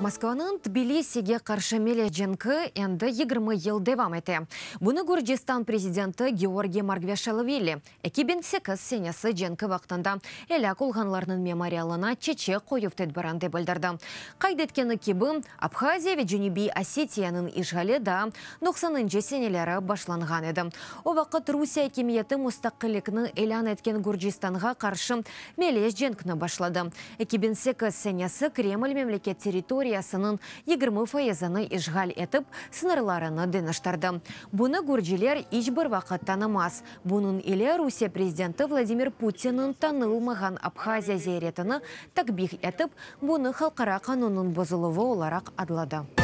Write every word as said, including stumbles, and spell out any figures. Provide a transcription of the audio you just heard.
Moskvanıñ Tbilisige qarşı melez cenki endi yigirmi yıl devam ete. Bunı Gürcistan prezidenti Georgiy Margveşelvili eki biñ sekiz senesi cenki vaqtında elâk olğanlarnıñ memorialına çeçek qoyuv tedbirinde bildirdi. Qayd etkeni kibi, Abhaziya ve Cenübiy Osetiyanıñ işğali daa doqsanıncı seneleri başlanğan edi. O vaqıt Rusiye akimiyeti mustaqillikni ilân etken Gürcistanğa qarşı melez cenkni başladı. eki biñ sekiz senesi Kreml memleket territoriyasınıñ yigirmi fayızını işğal etip, sıñırlarını deñiştirdi. Bunı gürciler iç bir vaqıt tanımaz. Bunıñ ile Rusiye prezidenti Vladimir Putinniñ tanılmağan Abhaziya ziyaretini takbih etip, bunı halqara qanunnıñ bozuluvı olaraq adladı.